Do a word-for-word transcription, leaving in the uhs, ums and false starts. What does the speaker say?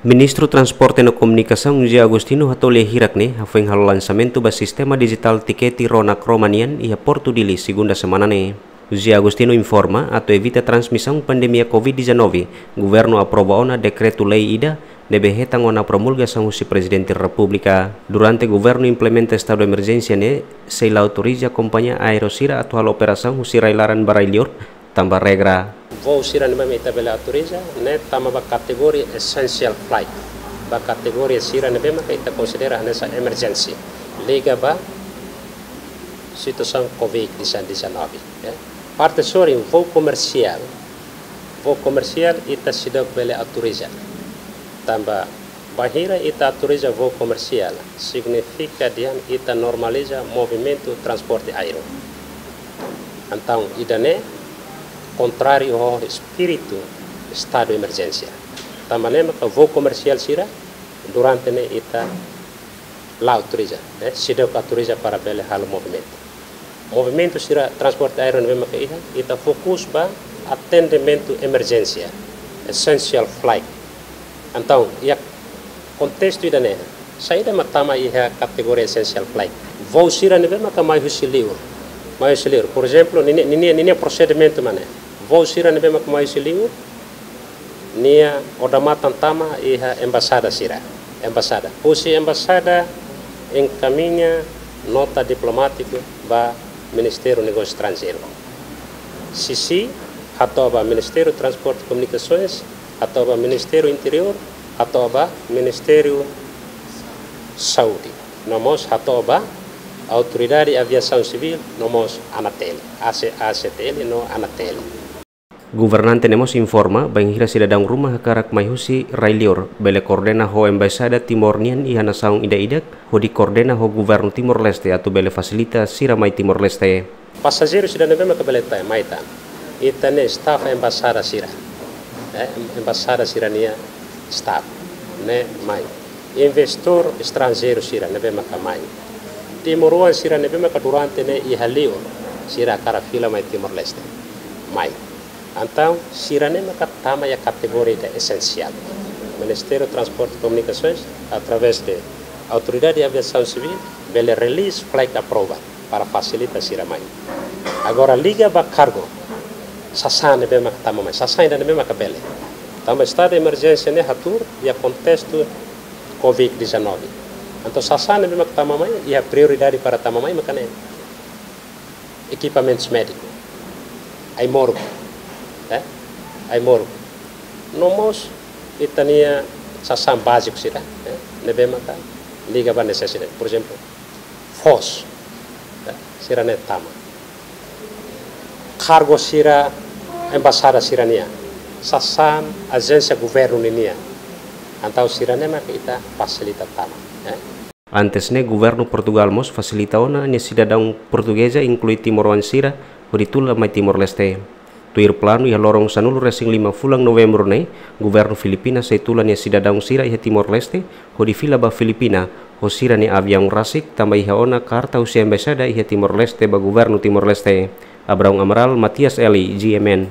Ministru Transporte no Komunikasaun José Agostinho hato'o lia hirak ne'e hafoin halo lansamentu ba sistema dijitál tikete rona kroma nian iha Portu Dili, segunda semana ne'e. José Agostinho informa, atu evita transmisaun pandemia covid dezanove, governu aprova ona dekretu-lei ida ne'ebé hetan ona promulgasaun husi Prezidente Repúblika. Durante governu implementa estadu emerjénsia ne'e, sei la autoriza kompañia aéreu sira atu halo operasaun husi rai-laran ba rai-liur, tanba regra. Voo sira ne'ebé mak ita bele autoriza, ne'e tama ba kategoria essential flight, ba kategoria sira ne'ebé mak ita konsidera hanesan emerjénsia, liga ba situasaun covid dezanove, ya. Parte sorin voo komersiál, voo komersiál ita seidauk bele autoriza. Tanba bainhira ita autoriza voo komersiál, signifika dehan ita normaliza movimentu transporte aéreu. Entaun, ida-ne'e kontráriu ho espíritu estadu emerjénsia. Tanba ne'e maka voo komersiál sira durante ne'e ita la autoriza, eh, seidauk autoriza para bele halo movimentu. Movimentu sira transporte aéreu ne'ebé maka iha, ita fokus ba atendimentu emerjénsia, essential flight. Entaun, iha kontestu ida-ne'e, saida mak tama iha kategoria essential flight? Voo sira ne'ebé maka mai husi liur, mai husi liur. Por ezemplu, ninia, ninia, ninia prosedimentu mak ne'e. Voo sira ne'ebé maka mai husi liur, nia odamatan tama iha embaixada sira. Embaixada. Husi embaixada enkamiña nota diplomátiku ba Ministériu Negósiu Estranjeiru. Sisi hato'o ba Ministériu Transporte e Komunikasoens, hato'o ba Ministériu Interiór, hato'o ba Ministériu Saúde. No mós hato'o ba Autoridade Aviasaun Sivíl, no mós ANATL, A C, A C T L no ANATL. Governante ne'e mós informa, bainhira sidadaun ruma hakarak mai husi rai-liur, bele koordena ho embaixada Timor nian iha nasaun ida-idak, hodi koordena ho governu Timor-Leste atu bele fasilita sira mai Timor-Leste. Pasajeiru sira ne'ebé maka bele tan, mai tan. Ita-nia staf embaixada sira. Eh, em-, embaixada sira-nia staf ne'e mai. Investidór estranjeiru sira ne'ebé maka mai. Timoroan sira ne'ebé maka durante ne'e iha liur, sira hakarak fila mai Timor-Leste. Mai. Entaun, sira-ne'e maka tama iha kategoria ida essential. Ministériu Transporte e Komunikasoens, através de Autoridade Aviasaun Sivíl, bele release flight approval para fasilita sira mai. Agora, liga ba kargu, sasán ne'ebé maka tama mai, sasán ida ne'ebé maka bele. Tanba estadu de emerjénsia ne'e hatuur iha kontestu covid dezanove. Entaun, sasán ne'ebé maka tama mai, iha prioridade para tama mai maka ne'e ekipamentus médiku, ai-moruk, eh? Ai-moruk. No mós ita-nia sasán báziku sira, eh? Ne'ebé maka liga ba nesesidade. Por ezemplu, foos, eh? Sira-ne'e tama. Kargu sira, embaixada sira-nian, sasán ajénsia governu ninian. Entaun sira-ne'e maka ita fasilita tama, eh? Antes ne'e, governu Portugál mós fasilita ona nia sidadaun portugeza, inklui timoroan sira, hodi tula mai Timor-Leste. Tuir planu, iha loron sanulu-resin-lima fulan Novembru ne'e, governu Filipina sei tula nia sidadaun sira iha Timor-Leste, hodi fila ba Filipina ho sira-nia aviaun rasik, tanba iha ona karta husi embaixada iha Timor-Leste ba governu Timor-Leste. Abraão Amaral, Matias Eli, G M N.